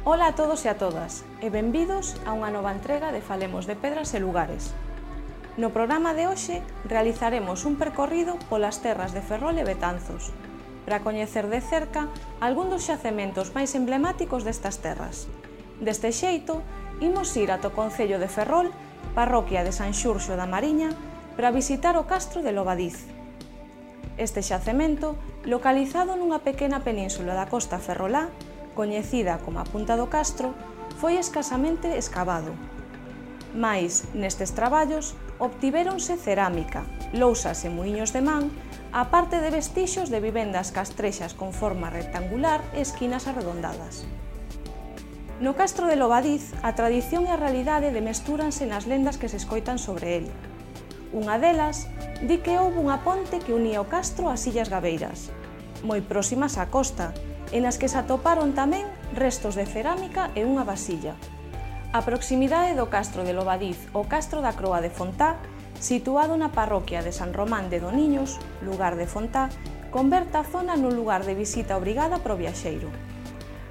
Ola a todos e a todas, e benvidos a unha nova entrega de Falemos de Pedras e Lugares. No programa de hoxe realizaremos un percorrido polas terras de Ferrol e Betanzos, para coñecer de cerca algún dos xacementos máis emblemáticos destas terras. Deste xeito, imos ir ata o concello de Ferrol, parroquia de San Xurxo da Mariña, para visitar o castro de Lobadiz. Este xacemento, localizado nunha pequena península da costa ferrolá, coñecida como a Punta do Castro, foi escasamente escavado. Mais, nestes traballos, obtivéronse cerámica, lousas e muiños de man, a parte de vestixios de vivendas castrexas con forma rectangular e esquinas arredondadas. No castro de Lobadiz, a tradición e a realidade demestúranse nas lendas que se escoitan sobre el. Unha delas di que houbo unha ponte que unía o castro ás Illas Gabeiras, moi próximas á costa, e nas que se atoparon tamén restos de cerámica e unha vasilla. A proximidade do castro de Lobadiz ao castro da Croa de Fontá, situado na parroquia de San Román de Doniños, lugar de Fontá, converte a zona nun lugar de visita obrigada para o viaxeiro.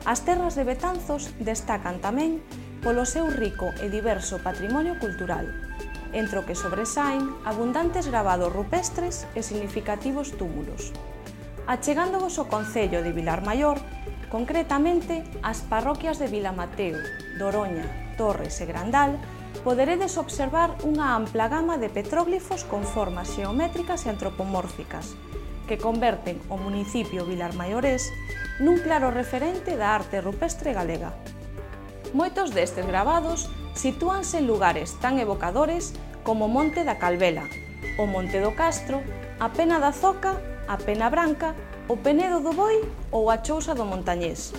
As terras de Betanzos destacan tamén polo seu rico e diverso patrimonio cultural, entre o que sobresaen abundantes gravados rupestres e significativos túmulos. Achegándovos ao concello de Vilarmaior, concretamente as parroquias de Vilamateo, Doroña, Torres e Grandal, poderedes observar unha ampla gama de petróglifos con formas xeométricas e antropomórficas, que converten o municipio vilarmaiorés nun claro referente da arte rupestre galega. Moitos destes gravados sitúanse en lugares tan evocadores como o Monte da Calvela, o Monte do Castro, a Pena da Zoca, a Pena Branca, o Penedo do Boi ou a Chousa do Montañés.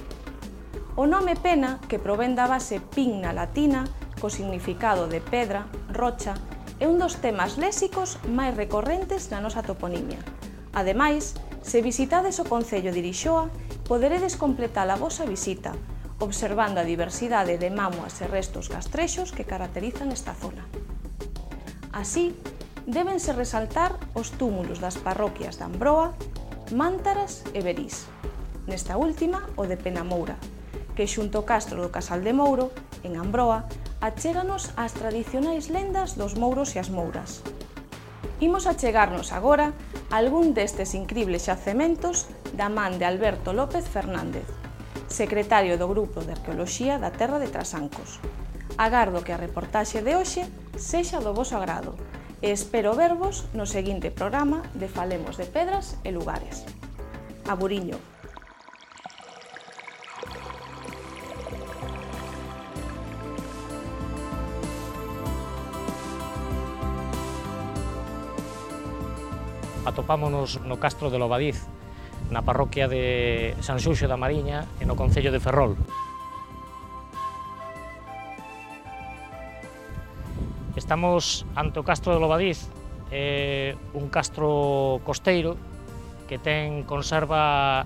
O nome Pena, que provén da base pigna latina, co significado de pedra, rocha, é un dos temas léxicos máis recorrentes na nosa toponimia. Ademais, se visitades o concello de Irixoa, poderedes completar a vosa visita, observando a diversidade de mámoas e restos castrexos que caracterizan esta zona. Así, débense resaltar os túmulos das parroquias de Ambroa, Mántaras e Berís. Nesta última, o de Penamoura, que xunto ao castro do Casal de Mouro, en Ambroa, achéganos ás tradicionais lendas dos mouros e as mouras. Imos achegarnos agora a algún destes incribles xacementos da man de Alberto López Fernández, secretario do Grupo de Arqueoloxía da Terra de Trasancos. Agardo que a reportaxe de hoxe sexa do voso agrado e espero vervos no seguinte programa de Falemos de Pedras e Lugares. Aburiño. Atopámonos no castro de Lobadiz, na parroquia de San Xurxo da Mariña e no concello de Ferrol. Estamos ante o castro de Lobadiz, un castro costeiro que conserva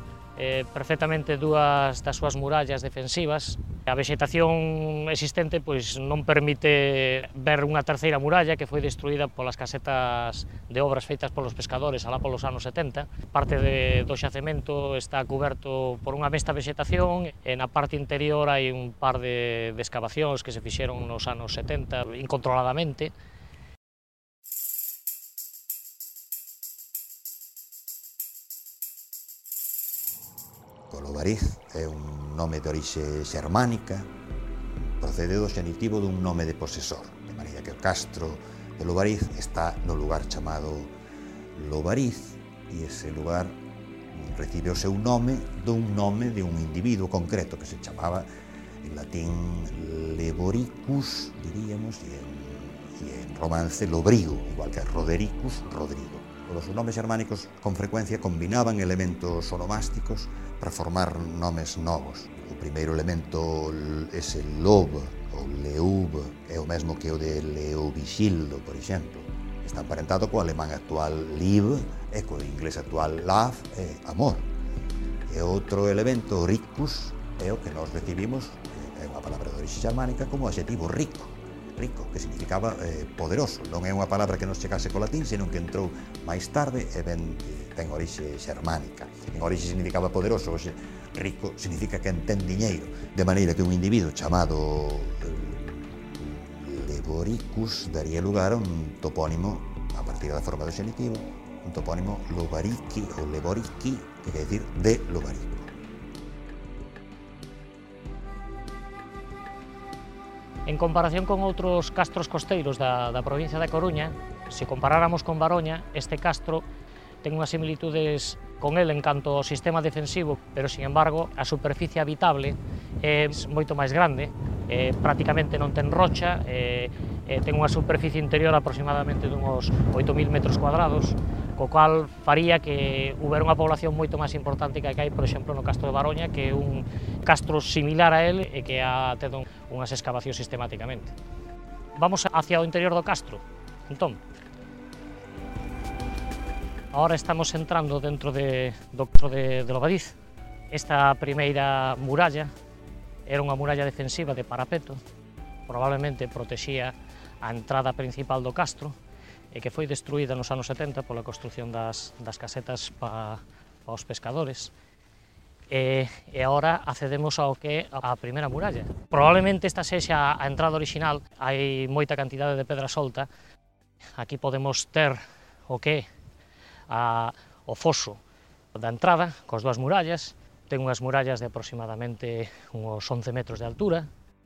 perfectamente dúas das súas murallas defensivas. A vexetación existente non permite ver unha terceira muralla que foi destruída polas casetas de obras feitas polos pescadores alá polos anos 70. Parte do xacemento está cuberto por unha mesta vexetación e na parte interior hai un par de excavacións que se fixeron nos anos 70 incontroladamente. Lobadiz é un nome de orixe xermánica, procede do xenitivo dun nome de posesor, de maneira que o castro de Lobadiz está no lugar chamado Lobariz, e ese lugar recibe o seu nome de un individuo concreto que se chamaba en latín Leboricus, diríamos, e en romance Lobrigo, igual que Rodericus, Rodrigo. Os nomes xermánicos con frecuencia combinaban elementos onomásticos para formar nomes novos. O primeiro elemento, ese lob, ou leub, é o mesmo que o de leovixildo, por exemplo. Está emparentado co alemán actual lieb e co inglés actual love e amor. E outro elemento, ricus, é o que nós recibimos, é unha palabra de orixe xermánica, como adxetivo rico. rico, que significaba poderoso. Non é unha palabra que nos chegase co latín, senón que entrou máis tarde e ten orixe xermánica. En orixe significaba poderoso, hoxe rico significa que ten diñeiro, de maneira que un individuo chamado Leboricus daría lugar a un topónimo a partir da forma do xenitivo, un topónimo Lobarici ou Leborici, que quer decir de Lobarico. En comparación con outros castros costeiros da provincia da Coruña, se comparáramos con Baroña, este castro ten unhas similitudes con el en canto ao sistema defensivo, pero, sin embargo, a superficie habitable é moito máis grande, prácticamente non ten rocha, ten unha superficie interior aproximadamente dunhos 8.000 metros cuadrados, co cual faría que houbera unha población moito máis importante que hai, por exemplo, no Castro de Baroña, que é un castro similar a él e que ha tido unhas excavacións sistemáticamente. Vamos hacia o interior do castro, entón. Ahora estamos entrando dentro do castro de Lobadiz. Esta primeira muralla era unha muralla defensiva de parapeto, probablemente protexía a entrada principal do castro, e que foi destruída nos anos 70 pola construción das casetas para os pescadores. E agora accedemos ao que é a primeira muralla. Probablemente esta sexa a entrada original, hai moita cantidade de pedra solta. Aquí podemos ter o que é o foso da entrada, cos dúas murallas. Ten unhas murallas de aproximadamente uns 11 metros de altura.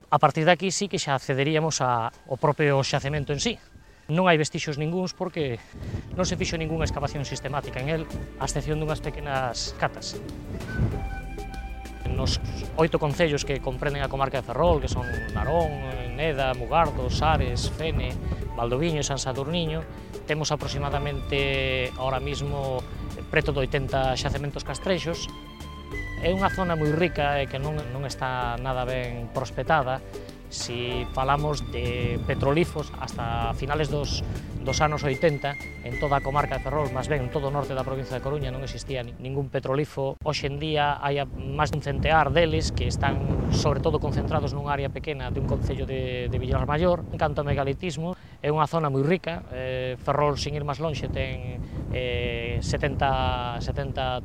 A partir de aquí sí que xa accederíamos ao propio xacemento en sí. Non hai vestixios ningúns porque non se fixo ningunha excavación sistemática en el, a excepción dunhas pequenas catas. Nos 8 concellos que comprenden a comarca de Ferrol, que son Narón, Neda, Mugardos, Ares, Fene, Valdoviño e San Sadurniño, temos aproximadamente ahora mismo preto de 80 xacementos castrexos. É unha zona moi rica e que non está nada ben prospectada. Si falamos de petrolíferos, hasta finales dos anos 80, en toda a comarca de Ferrol, máis ben en todo o norte da provincia de Coruña, non existía ningún petrolífero. Hoxe en día hai máis dun centear deles que están sobre todo concentrados nun área pequena de un concello de Vilar Maior. En canto ao megalitismo, é unha zona moi rica. Ferrol, sin ir máis lonxe, ten 70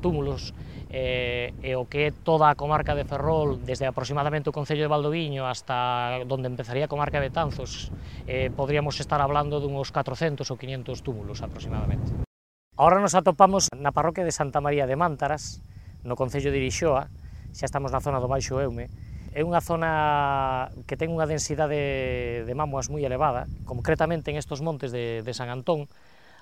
túmulos, e o que é toda a comarca de Ferrol, desde aproximadamente o concello de Valdoviño hasta donde empezaría a comarca de Betanzos, podríamos estar hablando dunhos 400 ou 500 túmulos aproximadamente. Ahora nos atopamos na parroquia de Santa María de Mántaras, no concello de Irixoa, xa estamos na zona do Baixo Eume. É unha zona que ten unha densidade de mámoas moi elevada, concretamente en estos montes de San Antón.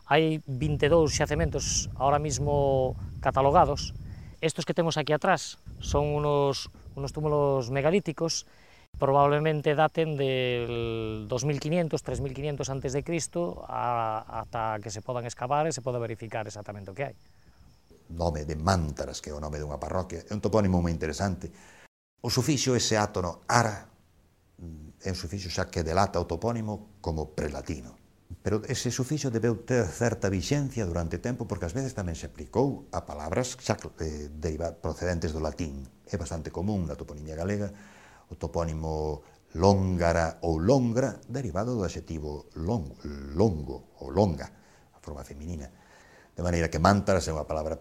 Hai 22 xacementos ahora mismo catalogados. Estos que temos aquí atrás son unos túmulos megalíticos, probablemente daten del 2500, 3500 antes de Cristo ata que se podan excavar e se poda verificar exactamente o que hai. Nome de Mántaras, que é o nome dunha parroquia, é un topónimo moi interesante. O sufixo ese átono ara é un sufixo xa que delata o topónimo como prelatino. Pero ese sufixo debeu ter certa vixencia durante tempo porque ás veces tamén se aplicou a palabras xa procedentes do latín. É bastante común na toponimia galega o topónimo Lóngara ou Longra derivado do adxetivo longo ou longa, a forma feminina. De maneira que Mántaras é unha palabra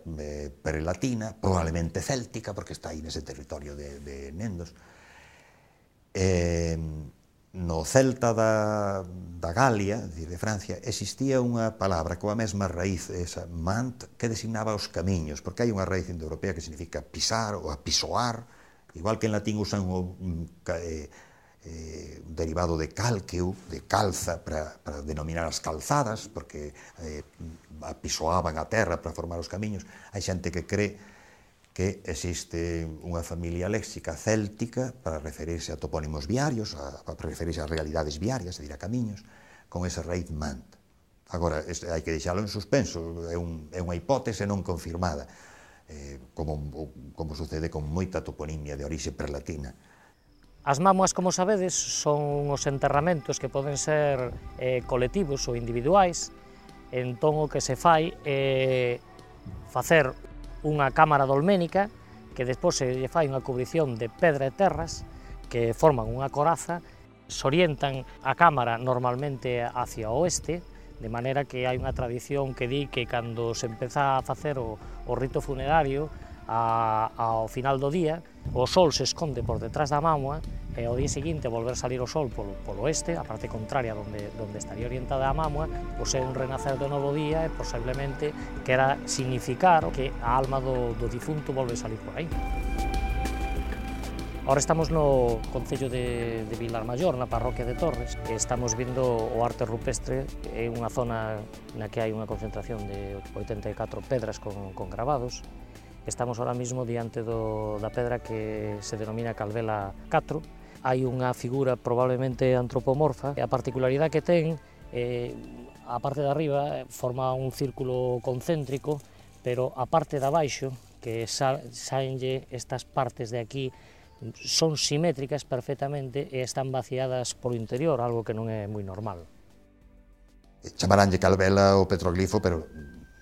prelatina, probablemente céltica, porque está aí nese territorio de Nendos. No celta da Galia, de Francia, existía unha palabra coa mesma raíz, esa mant, que designaba os camiños, porque hai unha raíz indoeuropea que significa pisar ou apisoar, igual que en latín usan un derivado de calqueu, de calza, para denominar as calzadas, porque apisoaban a terra para formar os camiños. Hai xente que cree que existe unha familia léxica céltica para referirse a topónimos viarios, para referirse a realidades viarias, é dicir, a camiños, con esa raíz mant. Agora, hai que deixalo en suspenso, é unha hipótese non confirmada, como sucede con moita toponimia de orixe prelatina. As mámoas, como sabedes, son os enterramentos que poden ser colectivos ou individuais. Entón, o que se fai é facer unha cámara dolménica que despois se lle fai unha cubrición de pedra e terras que forman unha coraza Se orientan a cámara normalmente hacia o oeste, de maneira que hai unha tradición que di que cando se empeza a facer o rito funerario, ao final do día, o sol se esconde por detrás da mámoa e ao día seguinte volver salir o sol polo oeste, a parte contraria donde estaría orientada a mámoa, pois é un renacer do novo día e posiblemente quera significar que a alma do difunto volve salir por aí. Ahora estamos no concello de Vilarmaior, na parroquia de Torres, e estamos vendo o arte rupestre, é unha zona na que hai unha concentración de 84 pedras con gravados. Estamos ahora mismo diante da pedra que se denomina Calvela 4. Hai unha figura probablemente antropomorfa, e a particularidade que ten, a parte de arriba forma un círculo concéntrico, pero a parte de abaixo, que saenlle estas partes de aquí, son simétricas perfectamente e están vaciadas polo interior, algo que non é moi normal. Chamaranlle Calvela o petroglifo, pero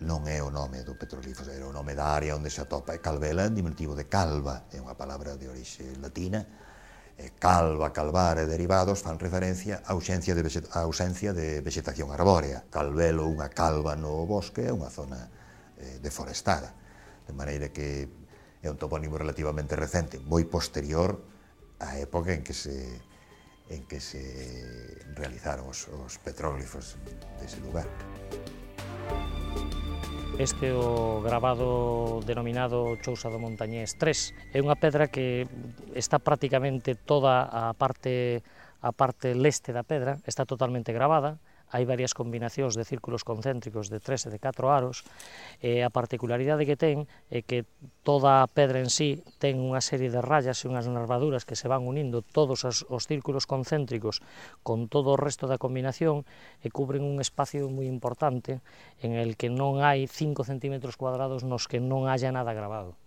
non é o nome do petroglifo, é o nome da área onde se atopa. Calvela é diminutivo de calva, é unha palabra de orixe latina. Calva, calvar e derivados fan referencia á ausencia de vegetación arbórea. Calvelo, unha calva no bosque, é unha zona deforestada, de maneira que é un topónimo relativamente recente, moi posterior á época en que se realizaron os petróglifos dese lugar. Este é o gravado denominado Chousa do Montañés 3. É unha pedra que está prácticamente toda a parte leste da pedra, está totalmente gravada. Hai varias combinacións de círculos concéntricos de 3 e de 4 aros, e a particularidade que ten é que toda a pedra en sí ten unha serie de rayas e unhas nervaduras que se van unindo todos os círculos concéntricos con todo o resto da combinación e cubren un espacio moi importante en el que non hai 5 centímetros cuadrados nos que non haya nada gravado.